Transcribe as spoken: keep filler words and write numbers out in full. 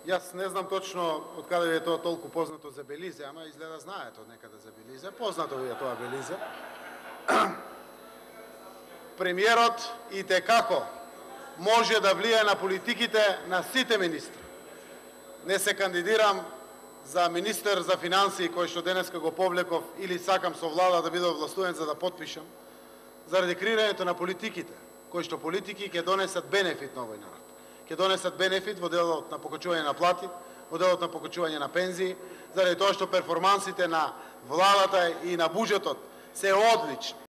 Јас не знам точно од каде ви е тоа толку познато за Белизе, ама изгледа знаете од некаде за Белизе. Познато ви е тоа Белизе. Премиерот и те како може да влијае на политиките на сите министри. Не се кандидирам за министер за финансии, кој што денеска го повлеков, или сакам со влада да бидам властувен за да потпишам, заради креирањето на политиките, кои што политики ќе донесат бенефит на овој народ. Ќе донесат бенефит во делот на покачување на плати, во делот на покачување на пензии, заради тоа што перформансите на владата и на буџетот се одлични.